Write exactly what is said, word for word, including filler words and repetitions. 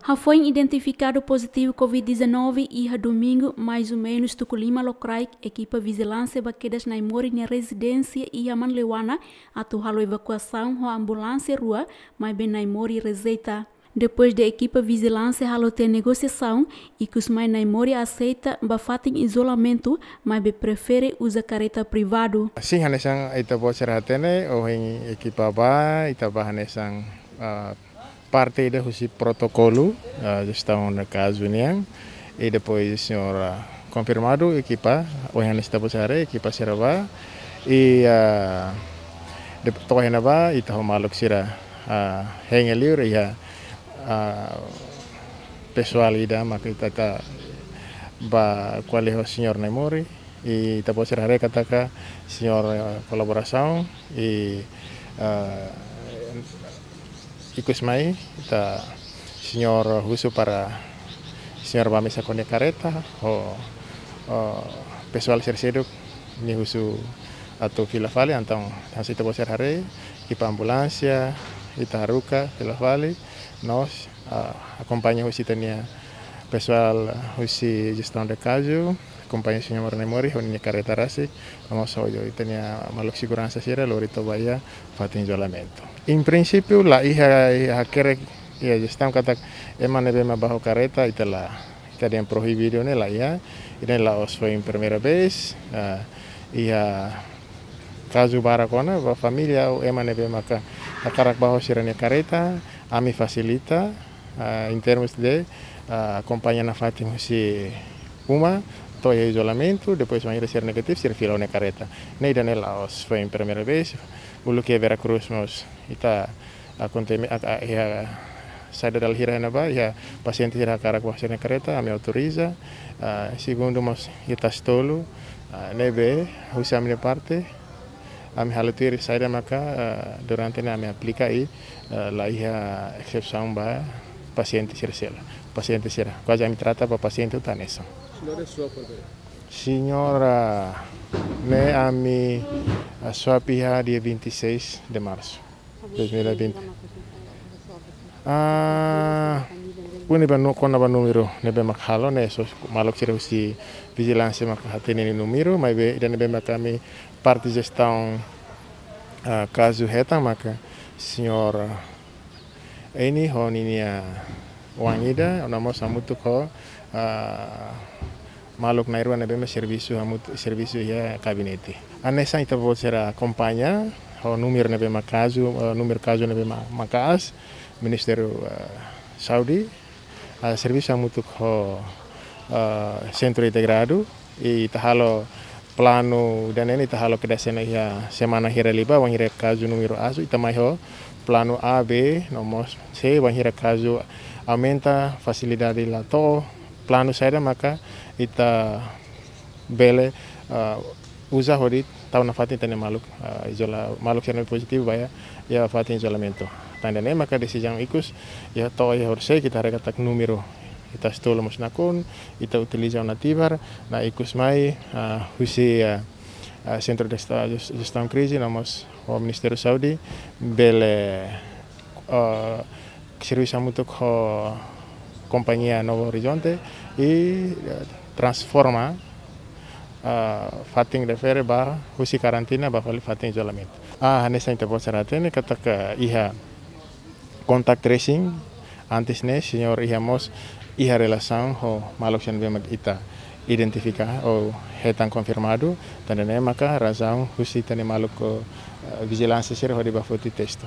Hafoin identifikadu pozitivu covid dezanove iha domingu, mais ou menus tuku lima lokraik, ekipa vijilánsia ba kedas Naimori nia rezidénsia iha Manleuana atu halo evakuasaun ho ambulánsia rua, maibé Naimori rejeita. Depois de ekipa vijilánsia halo tiha negosiasaun, ikus mai Naimori aseita ba fatin izolamentu, maibé prefere uza kareta privadu. Sin, hanesan ita-boot sira hatene, ohin ekipa bá, ita bá hanesan, ah, parte ida husi protokolu, ah, jestaun de kazu nian. I depois señór, ah, konfirmadu ekipa, ohin hanesan ita-boot sira haree, ekipa sira bá. I, ah, de, to'o iha ne'ebá, ita ho maluk sira, ah, hein liur, iha, ah, pesoál ida maka ita, ita bá ko'alia ho señór Naimori. I ita-boot sira haree katak señór, eh, kolaborasaun i, eh, ikus mai ita señór husu para señór bá mesak ho nia kareta ho, eh, pesoál sira seluk nia husu atu fila fali, entaun hanesan ita-boot sira haree, ekipa ambulánsia, ita haruka fila fali, no mós, ah, akompaña husi ita-nia pesoál, ah, husi jestaun de kazu, akompaña señór Naimori ho nia kareta rasik, no mós ho ita-nia maluk seguransa sira lori to'o ba iha fatin izolamentu. Em princípio, la iha, iha hakerek iha jestaun katak ema ne'ebé mak bá ho kareta, ita la, ita dehan proibidu ne'e la iha, ida-ne'e la'ós foin primeira vez, ah, iha kazu barak ona, ba família ou ema ne'ebé maka hakarak bá ho sira-nia kareta, ami fasilita, ah, em termos de, ah, akompaña nafatin husi uma, to'o iha izolamentu, depois bainhira sira negativu, sira fila ona kareta. Ne'e ida-ne'e la'ós foin primeira vez, uluk iha Vera Cruz mós, ita akonteme, a, a, iha saida dala hira iha ne'ebá, iha pasiente hira hakarak bá ho sira-nia kareta, ami autoriza, ah, segundu mós iha Tasitolu, ah, ne'ebé, husi ami-nia parte, ami halo tuir saida maka, ah, durante ne'e ami aplika i, ah, la iha exesaun ba pasiente sira seluk. Pasiente sira, kuaze ami trata ba pasiente hotu hanesan. Señór, sua por favor. Señór, ah, ne'e ami, ah, swab iha dia vinte e seis de março. Dois mil e vinte. Ah, puni ba nu-, kona-ba númeru ne'ebé mak halo ne'e só maluk sira husi vijilánsia mak hatene nia númeru, maibé ida ne'ebé mak ami parte jestaun, ah, kazu hetan maka señór Eni ho ninia oan ida, no mós hamutuk ho, ah, maluk na'in-rua ne'ebé mak servisu hamutuk, servisu iha gabinete. Hanesan ita-boot sira akompaña, ho númeru ne'ebé mak kazu, eh, númeru kazu ne'ebé mak, maka'as, Ministériu, eh, Saúde, ah, servisu hamutuk ho, eh, Sentru Integradu, i ita halo planu ida-ne'e ita halo kedas ona iha semana hira liubá, wainhira kazu númeru asu, ita mai ho planu A, B, no mós C, wainhira kazu aumenta, fasilidade la to'o, planu saida maka ita bele, ah, uza hodi tau nafatin ita-nia maluk, ah, izola, maluk sira ne'ebé pozitivu ba iha, iha fatin izolamentu. Tan ida-ne'e maka desizaun ikus, iha to'o iha horisehik ita haree katak númeru ita Tasitolu mós nakonu, ita utiliza ona tibar, no ikus mai, ah, husi, ah, ah, Sentru de Esta-, Jestaun Krize, no mós ho Ministériu Saúde, bele, ah, servisu hamutuk ho kompañia Novo Horizonte i, eh, transforma, ah, fatin refere ba husi karantina ba fali fatin izolamentu. Ah, hanesan ita-boot sira hatene katak iha contact tracing, antes ne'e señór iha mós iha relasaun ho maluk sira ne'ebé mak ita identifika ou hetan konfirmadu, tan ida-ne'e maka razaun husi ita-nia maluk, eh, vijilánsia sira hodi bá foti testu.